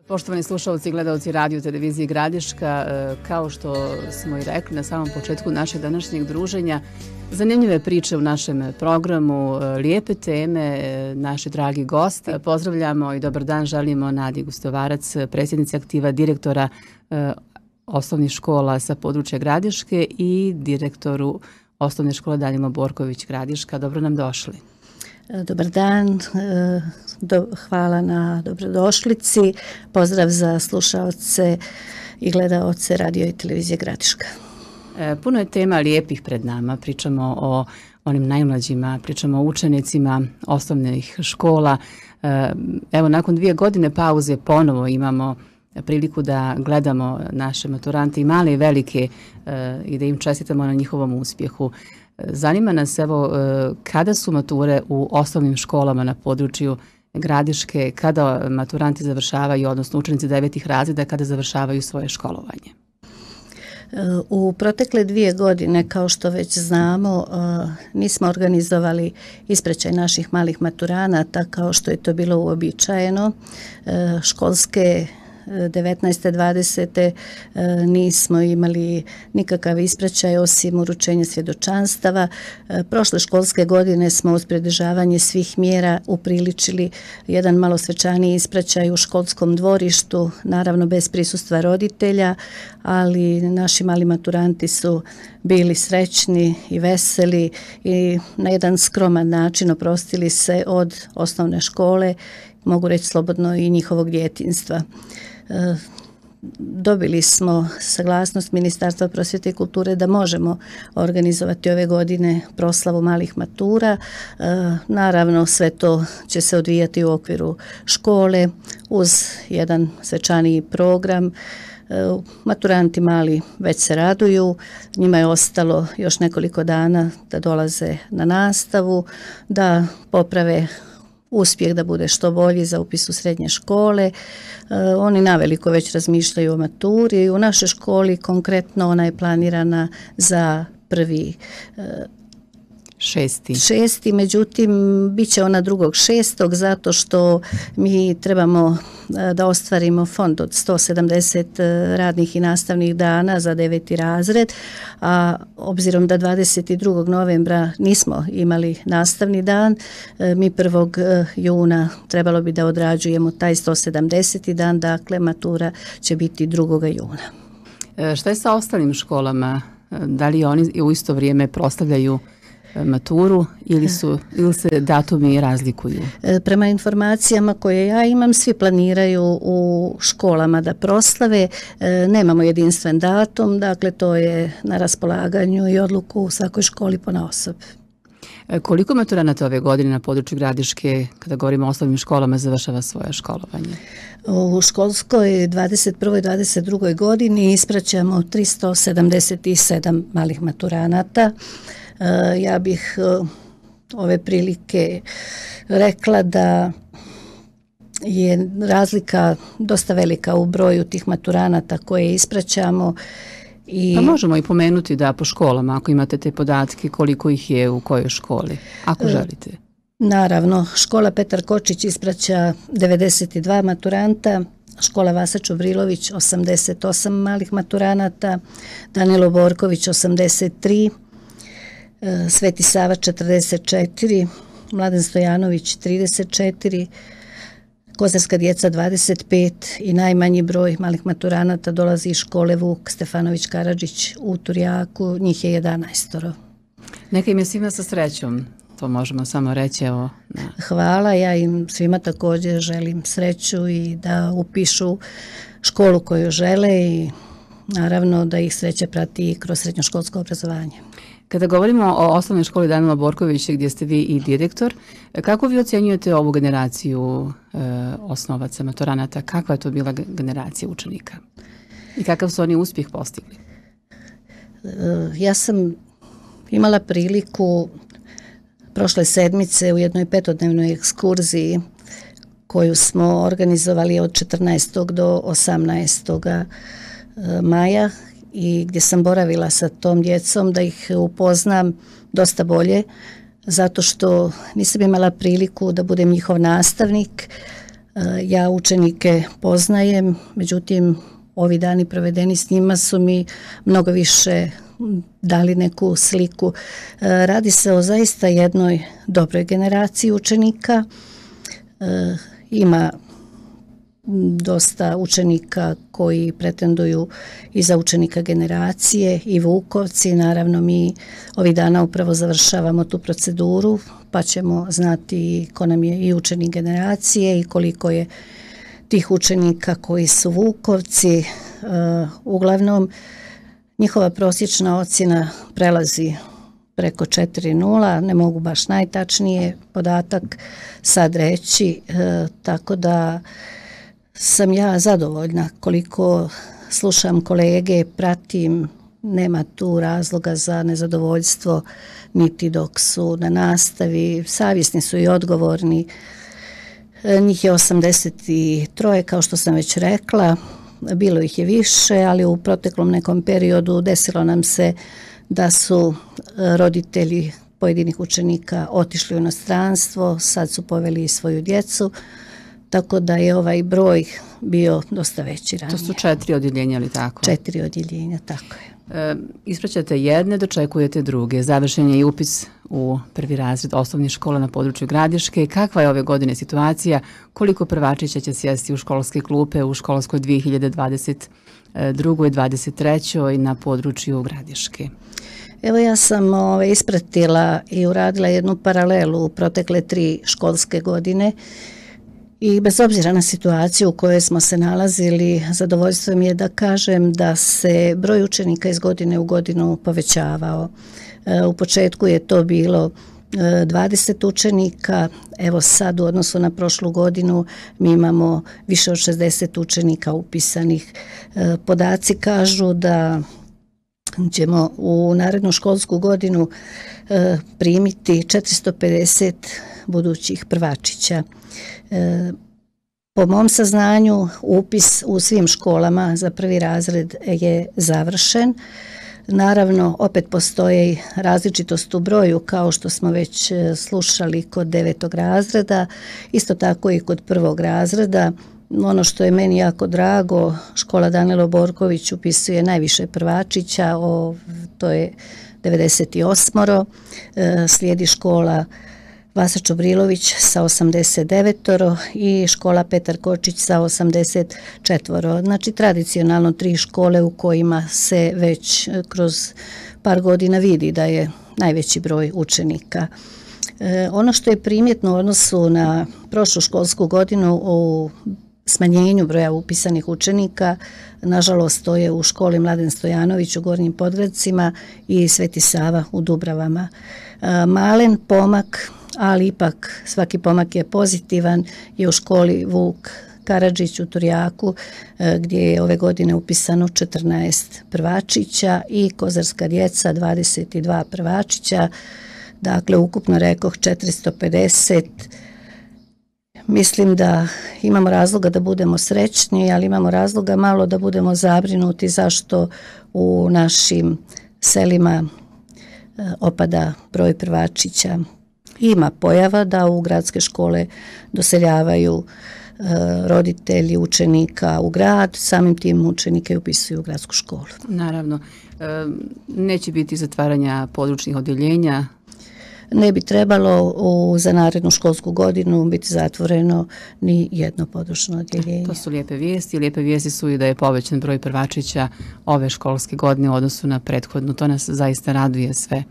Poštovani slušalci i gledalci radio televizije Gradiška, kao što smo i rekli na samom početku našeg današnjeg druženja, zanimljive priče u našem programu, lijepe teme, naši dragi gosti. Pozdravljamo i dobar dan želimo Nadi Gustovarac, predsjednici aktiva direktora osnovnih škola sa područja Gradiške i direktoru osnovne škole Danilo Borković Gradiška. Dobro nam došli. Dobar dan, hvala na dobrodošlici, pozdrav za slušaoce i gledaoce radio i televizije Gradiška. Puno je tema lijepih pred nama, pričamo o onim najmlađima, pričamo o učenicima osnovnih škola. Evo, nakon 2 godine pauze ponovo imamo priliku da gledamo naše maturante i male i velike i da im čestitamo na njihovom uspjehu. Zanima nas evo kada su mature u osnovnim školama na području Gradiške, kada maturanti završavaju, odnosno učenici 9. razreda, kada završavaju svoje školovanje? U protekle 2 godine, kao što već znamo, nismo organizovali ispraćaj naših malih maturanata kao što je to bilo uobičajeno. Školske 19. 20. nismo imali nikakav ispraćaj osim uručenja svjedočanstava. Prošle školske godine smo uz pridržavanje svih mjera upriličili jedan malo svečaniji ispraćaj u školskom dvorištu, naravno bez prisustva roditelja, ali naši mali maturanti su bili srećni i veseli i na jedan skroman način oprostili se od osnovne škole, mogu reći slobodno i njihovog djetinjstva. Dobili smo saglasnost Ministarstva prosvjete i kulture da možemo organizovati ove godine proslavu malih matura. Naravno, sve to će se odvijati u okviru škole uz jedan svečaniji program. Maturanti mali već se raduju, njima je ostalo još nekoliko dana da dolaze na nastavu, da poprave uspjeh da bude što bolji za upis u srednje škole. Oni naveliko već razmišljaju o maturi. U našoj školi konkretno ona je planirana za 1.6. Međutim, bit će ona 2.6. zato što mi trebamo da ostvarimo fond od 170 radnih i nastavnih dana za 9. razred, a obzirom da 22. novembra nismo imali nastavni dan, mi 1. juna trebalo bi da odrađujemo taj 170. dan, dakle matura će biti 2. juna. Šta je sa ostalim školama? Da li oni u isto vrijeme proslavljaju maturu ili se datumi razlikuju? Prema informacijama koje ja imam, svi planiraju u školama da proslave. Nemamo jedinstven datum, dakle to je na raspolaganju i odluku u svakoj školi ponaosob. Koliko maturanata ove godine na području Gradiške, kada govorimo o osnovnim školama, završava svoje školovanje? U školskoj 21. i 22. godini ispraćamo 377 malih maturanata. Ja bih ove prilike rekla da je razlika dosta velika u broju tih maturanata koje ispraćamo. Pa možemo i pomenuti da po školama, ako imate te podatke, koliko ih je u kojoj školi, ako želite. Naravno, škola Petar Kočić ispraća 92 maturanta, škola Vasa Čubrilović 88 malih maturanata, Danilo Borković 83, Sveti Sava 44, Mladen Stojanović 34, Kozarska djeca 25 i najmanji broj malih maturanata dolazi iz škole Vuk Stefanović Karadžić u Turjaku, njih je 11. Neka im je svima sa srećom, to možemo samo reći. Evo. Hvala, ja im svima također želim sreću i da upišu školu koju žele i naravno da ih sreća prati kroz srednjoškolsko obrazovanje. Kada govorimo o osnovnoj školi Danila Borkovića gdje ste vi i direktor, kako vi ocjenjujete ovu generaciju osnovaca maturanata? Kakva je to bila generacija učenika? I kakav su oni uspjeh postigli? Ja sam imala priliku prošle sedmice u jednoj 5-dnevnoj ekskurziji koju smo organizovali od 14. do 18. maja i gdje sam boravila sa tom djecom da ih upoznam dosta bolje, zato što nisam imala priliku da budem njihov nastavnik. Ja učenike poznajem, međutim ovi dani provedeni s njima su mi mnogo više dali neku sliku. Radi se o zaista jednoj dobroj generaciji učenika. Ima dosta učenika koji pretenduju i za učenika generacije i Vukovci. Naravno, mi ovih dana upravo završavamo tu proceduru, pa ćemo znati ko nam je i učenik generacije i koliko je tih učenika koji su Vukovci. Uglavnom, njihova prosječna ocjena prelazi preko 4,0, ne mogu baš najtačnije podatak sad reći, tako da sam ja zadovoljna koliko slušam kolege, pratim, nema tu razloga za nezadovoljstvo niti dok su na nastavi, savjesni su i odgovorni. Njih je 83, kao što sam već rekla, bilo ih je više, ali u proteklom nekom periodu desilo nam se da su roditelji pojedinih učenika otišli u inostranstvo, sad su poveli i svoju djecu, tako da je ovaj broj bio dosta veći ranije. To su 4 odjeljenja, ali tako? 4 odjeljenja, tako je. Ispraćate jedne, dočekujete druge. Završen je i upis u prvi razred osnovnih škola na području Gradiške. Kakva je ove godine situacija? Koliko prvačića će sjesti u školske klupe u školskoj 2022. i 2023. na području Gradiške? Evo ja sam ispratila i uradila jednu paralelu u protekle 3 školske godine i bez obzira na situaciju u kojoj smo se nalazili, zadovoljstvo mi je da kažem da se broj učenika iz godine u godinu povećavao. U početku je to bilo 20 učenika, evo sad u odnosu na prošlu godinu mi imamo više od 60 učenika upisanih. Podaci kažu da ćemo u narednu školsku godinu primiti 450 budućih prvačića. Po mom saznanju upis u svim školama za prvi razred je završen. Naravno, opet postoji različitost u broju, kao što smo već slušali kod 9. razreda, isto tako i kod 1. razreda. Ono što je meni jako drago, škola Danilo Borković upisuje najviše prvačića, to je 98. Slijedi škola Vasa Čobrilović sa 89 i škola Petar Kočić sa 84. Znači tradicionalno 3 škole u kojima se već kroz par godina vidi da je najveći broj učenika. Ono što je primjetno u odnosu na prošlu školsku godinu u smanjenju broja upisanih učenika, nažalost to je u školi Mladen Stojanović u Gornjim Podgradcima i Sveti Sava u Dubravama. Malen pomak, ali ipak svaki pomak je pozitivan, je u školi Vuk Karadžić u Turjaku, gdje je ove godine upisano 14 prvačića i Kozarska djeca 22 prvačića, dakle ukupno rekoh 450. Mislim da imamo razloga da budemo srećni, ali imamo razloga malo da budemo zabrinuti zašto u našim selima opada broj prvačića. Ima pojava da u gradske škole doseljavaju roditelji učenika u grad, samim tim učenike upisuju u gradsku školu. Naravno, neće biti zatvaranja područnih odjeljenja. Ne bi trebalo za narednu školsku godinu biti zatvoreno ni jedno područno odjeljenje. To su lijepe vijesti. Lijepe vijesti su i da je povećan broj prvačića ove školske godine u odnosu na prethodnu. To nas zaista raduje sve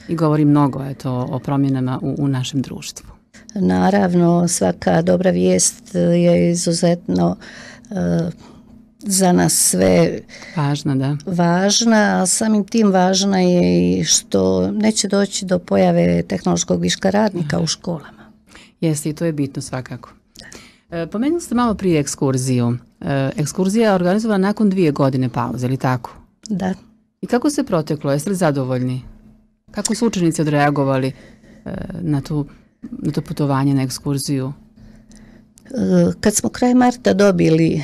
i govori mnogo o promjenama u našem društvu. Naravno, svaka dobra vijest je izuzetno za nas sve važna, a samim tim važna je i što neće doći do pojave tehnološkog viška radnika u školama. Jeste, i to je bitno svakako. Pomenuli ste malo prije ekskurziju. Ekskurzija je organizovana nakon 2 godine pauze, ili tako? Da. I kako se proteklo? Jeste li zadovoljni? Kako su učenici odreagovali na to putovanje, na ekskurziju? Kad smo kraj marta dobili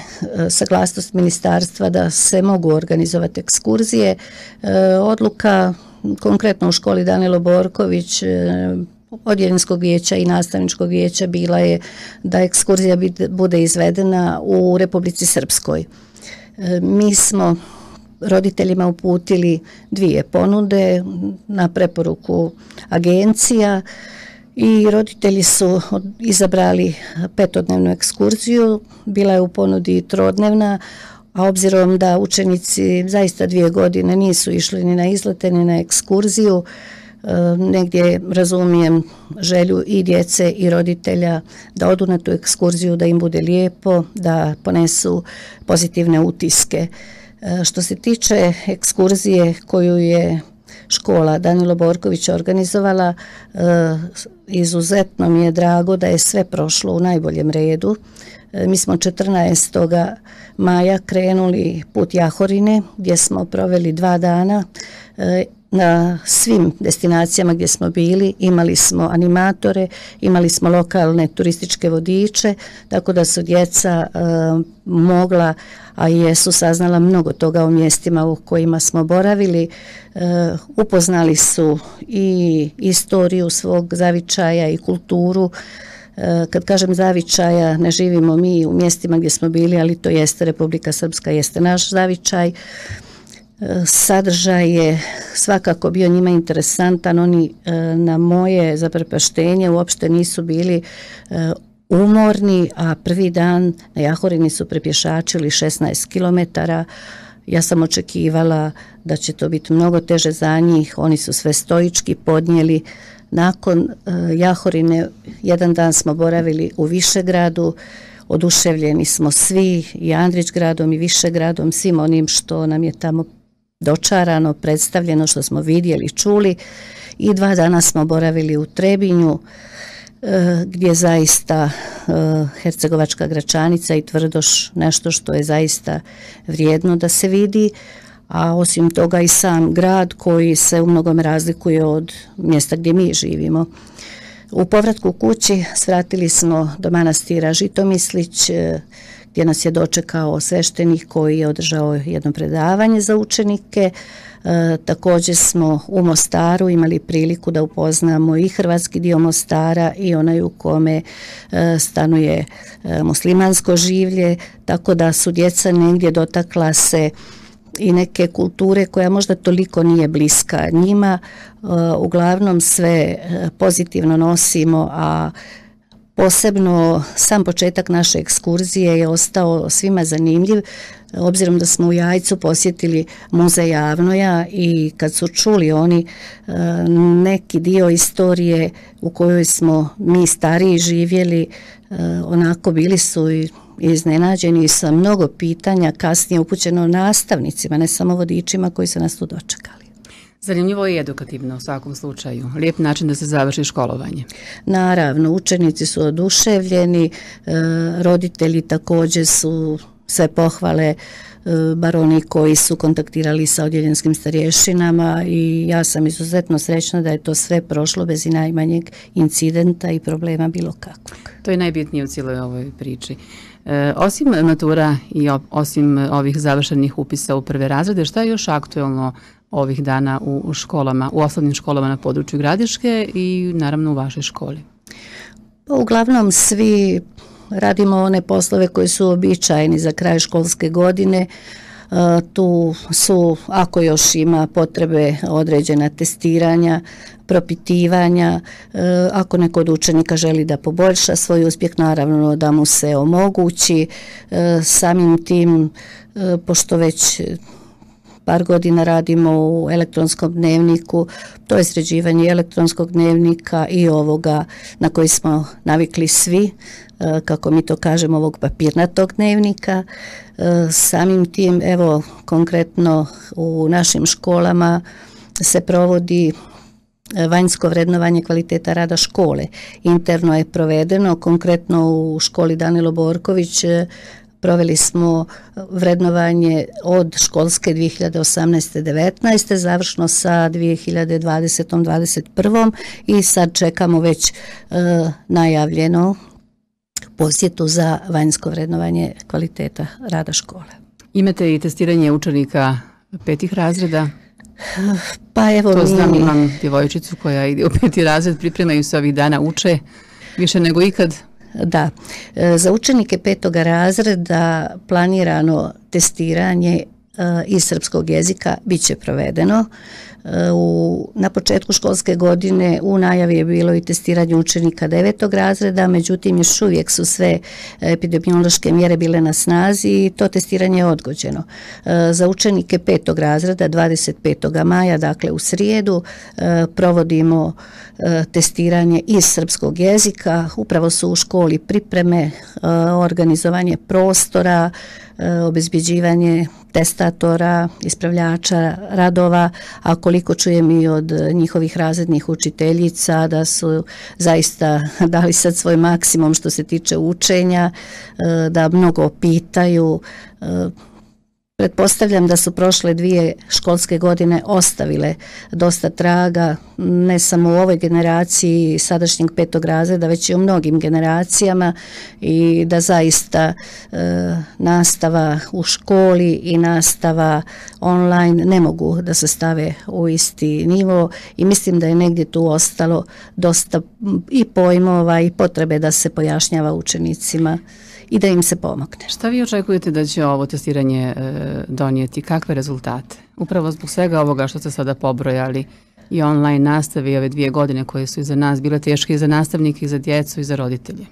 saglasnost ministarstva da se mogu organizovati ekskurzije, odluka konkretno u školi Danilo Borković odjeljenskog vijeća i nastavničkog vijeća bila je da ekskurzija bude izvedena u Republici Srpskoj. Mi smo roditeljima uputili 2 ponude na preporuku agencija i roditelji su izabrali 5-dnevnu ekskurziju, bila je u ponudi 3-dnevna, a obzirom da učenici zaista 2 godine nisu išli ni na izlete ni na ekskurziju, negdje razumijem želju i djece i roditelja da odu na tu ekskurziju, da im bude lijepo, da ponesu pozitivne utiske. Što se tiče ekskurzije koju je škola Danilo Borković organizovala, izuzetno mi je drago da je sve prošlo u najboljem redu. Mi smo 14. maja krenuli put Jahorine gdje smo proveli 2 dana. Na svim destinacijama gdje smo bili imali smo animatore, imali smo lokalne turističke vodiče, tako da su djeca mogla, a jesu saznala mnogo toga o mjestima u kojima smo boravili. Upoznali su i istoriju svog zavičaja i kulturu. Kad kažem zavičaja, ne živimo mi u mjestima gdje smo bili, ali to jeste Republika Srpska, jeste naš zavičaj. Sadržaj je svakako bio njima interesantan. Oni na moje zaprepaštenje uopšte nisu bili umorni, a prvi dan na Jahorini su prepješačili 16 km. Ja sam očekivala da će to biti mnogo teže za njih. Oni su sve stoički podnijeli. Nakon Jahorine 1 dan smo boravili u Višegradu. Oduševljeni smo svi, i Andrićgradom i Višegradom, svim onim što nam je tamo dočarano, predstavljeno, što smo vidjeli, čuli. I 2 dana smo boravili u Trebinju, gdje zaista Hercegovačka Gračanica i Tvrdoš nešto što je zaista vrijedno da se vidi, a osim toga i sam grad koji se u mnogome razlikuje od mjesta gdje mi živimo. U povratku kući svratili smo do manastira Žitomislić, gdje nas je dočekao sveštenik koji je održao jedno predavanje za učenike. Također smo u Mostaru imali priliku da upoznamo i hrvatski dio Mostara i onaj u kome stanuje muslimansko življe, tako da su djeca negdje dotakla se i neke kulture koja možda toliko nije bliska njima. Uglavnom sve pozitivno nosimo, a posebno sam početak naše ekskurzije je ostao svima zanimljiv, obzirom da smo u Jajcu posjetili muzej Javnoja i kad su čuli oni neki dio istorije u kojoj smo mi stariji živjeli, onako bili su i iznenađeni sa mnogo pitanja kasnije upućeno nastavnicima, ne samo vodičima koji su nas tu dočekali. Zanimljivo i edukativno u svakom slučaju. Lijep način da se završi školovanje. Naravno, učenici su oduševljeni, roditelji također su sve pohvale, bar oni koji su kontaktirali sa odjeljenskim starješinama, i ja sam izuzetno srećna da je to sve prošlo bez i najmanjeg incidenta i problema bilo kakvog. To je najbitnije u cijeloj ovoj priči. Osim matura i osim ovih završenih upisa u prve razrede, šta je još aktuelno ovih dana u školama, u osnovnim školama na području Gradiške i naravno u vašoj školi? Uglavnom svi radimo one poslove koji su običajni za kraj školske godine. Tu su, ako još ima potrebe, određena testiranja, propitivanja. Ako neko od učenika želi da poboljša svoj uspjeh, naravno da mu se omogući. Samim tim, pošto već par godina radimo u elektronskom dnevniku, to je sređivanje elektronskog dnevnika i ovoga na koji smo navikli svi, kako mi to kažemo, ovog papirnatog dnevnika. Samim tim, evo, konkretno u našim školama se provodi vanjsko vrednovanje kvaliteta rada škole. Interno je provedeno, konkretno u školi Danilo Borković proveli smo vrednovanje od školske 2018-19, završno sa 2020-21 i sad čekamo već najavljeno posjetu za vanjsko vrednovanje kvaliteta rada škole. Imate i testiranje učenika 5. razreda? Pa evo to znam, imam djevojčicu koja ide u 5. razred, pripremaju se ovih dana, uče više nego ikad. Da, za učenike 5. razreda planirano testiranje iz srpskog jezika bit će provedeno. Na početku školske godine u najavi je bilo i testiranje učenika 9. razreda, međutim još uvijek su sve epidemiološke mjere bile na snazi i to testiranje je odgođeno. Za učenike 5. razreda 25. maja, dakle u srijedu, provodimo testiranje iz srpskog jezika. Upravo su u školi pripreme, organizovanje prostora, obezbeđivanje testatora, ispravljača radova, a koliko čujem i od njihovih razrednih učiteljica da su zaista dali sad svoj maksimum što se tiče učenja, da mnogo pitaju. Pretpostavljam da su prošle 2 školske godine ostavile dosta traga, ne samo u ovoj generaciji sadašnjeg 5. razreda, već i u mnogim generacijama i da zaista nastava u školi i nastava online ne mogu da se stave u isti nivo i mislim da je negdje tu ostalo dosta i pojmova i potrebe da se pojašnjava učenicima i da im se pomogne. Šta vi očekujete da će ovo testiranje donijeti? Kakve rezultate? Upravo zbog svega ovoga što ste sada pobrojali i online nastave i ove 2 godine koje su iza nas bile teške i za nastavnike i za djecu i za roditelje.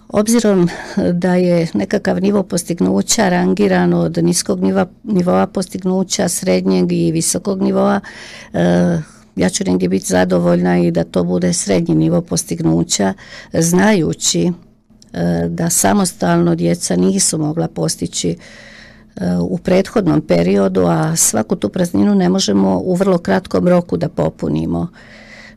Obzirom da je nekakav nivo postignuća rangiran od niskog nivoa postignuća, srednjeg i visokog nivoa, ja ću negdje biti zadovoljna i da to bude srednji nivo postignuća, znajući da samostalno djeca nisu mogla postići u prethodnom periodu, a svaku tu prazninu ne možemo u vrlo kratkom roku da popunimo.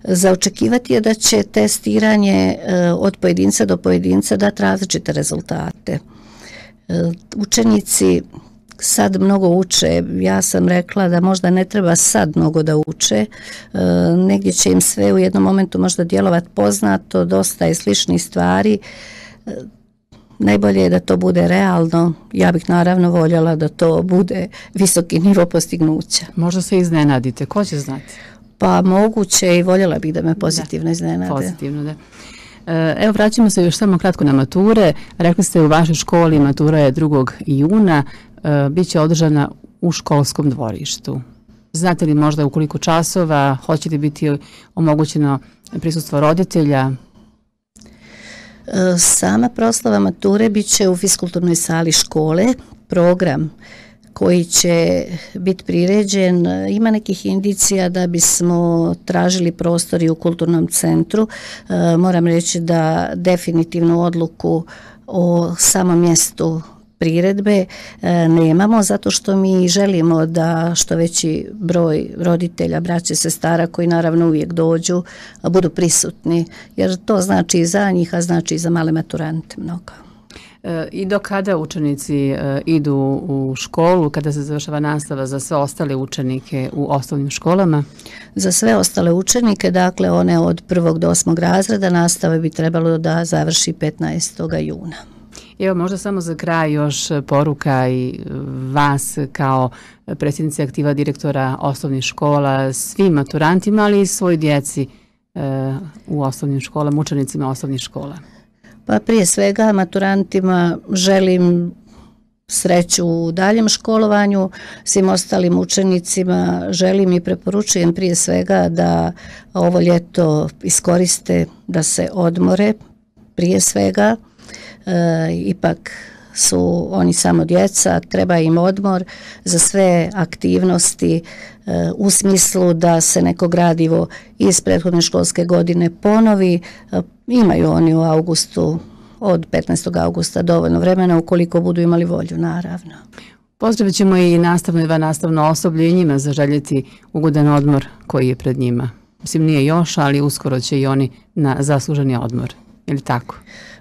Za očekivati je da će testiranje od pojedinca do pojedinca dati različite rezultate. Učenici sad mnogo uče, ja sam rekla da možda ne treba sad mnogo da uče, negdje će im sve u jednom momentu možda djelovati poznato, dosta je sličnih stvari. Najbolje je da to bude realno. Ja bih naravno voljela da to bude visoki nivo postignuća. Možda se iznenadite, ko će znati? Pa moguće i voljela bih da me pozitivno iznenade. Pozitivno, da. Evo, vraćamo se još samo kratko na mature. Rekli ste u vašoj školi matura je 2. juna, bit će održana u školskom dvorištu. Znate li možda u koliko časova, hoće li biti omogućeno prisustvo roditelja? Sama proslava mature bit će u fiskulturnoj sali škole. Program koji će biti priređen ima nekih indicija da bismo tražili prostori u kulturnom centru. Moram reći da definitivnu odluku o samom mjestu priredbe nemamo, zato što mi želimo da što veći broj roditelja, braće, sestara koji naravno uvijek dođu, budu prisutni, jer to znači i za njih, a znači i za male maturante mnogo. I do kada učenici idu u školu, kada se završava nastava za sve ostale učenike u osnovnim školama? Za sve ostale učenike, dakle one od 1. do 8. razreda, nastava bi trebalo da završi 15. juna. Evo, možda samo za kraj još poruka i vas kao predsjednice aktiva direktora osnovnih škola, svim maturantima, ali i svoj djeci u osnovnim školama, učenicima osnovnih škola. Pa prije svega maturantima želim sreću u daljem školovanju, svim ostalim učenicima želim i preporučujem prije svega da ovo ljeto iskoriste, da se odmore prije svega. Ipak su oni samo djeca, treba im odmor za sve aktivnosti u smislu da se neko gradivo iz prethodne školske godine ponovi. Imaju oni u augustu, od 15. augusta dovoljno vremena ukoliko budu imali volju, naravno. Pozdravit ćemo i nastavno i vannastavno osoblje i njima zaželjeti ugodan odmor koji je pred njima. Mislim, nije još, ali uskoro će i oni na zasluženi odmor. Je li tako?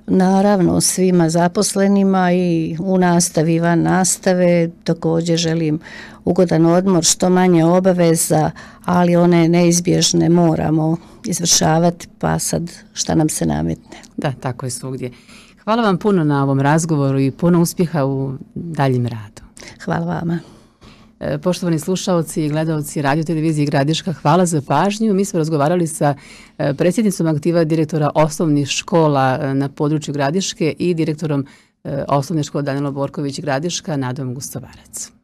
Naravno, svima zaposlenima i u nastavi i van nastave također želim ugodan odmor, što manje obaveza, ali one neizbježne moramo izvršavati, pa sad šta nam se nametne. Da, tako je svugdje. Hvala vam puno na ovom razgovoru i puno uspjeha u daljem radu. Hvala vama. Poštovani slušaoci i gledalci Radio televizije Gradiška, hvala za pažnju. Mi smo razgovarali sa predsjednicom aktiva direktora osnovnih škola na području Gradiške i direktorom osnovne škole Danilo Borković Gradiška, Nadom Gustovarac.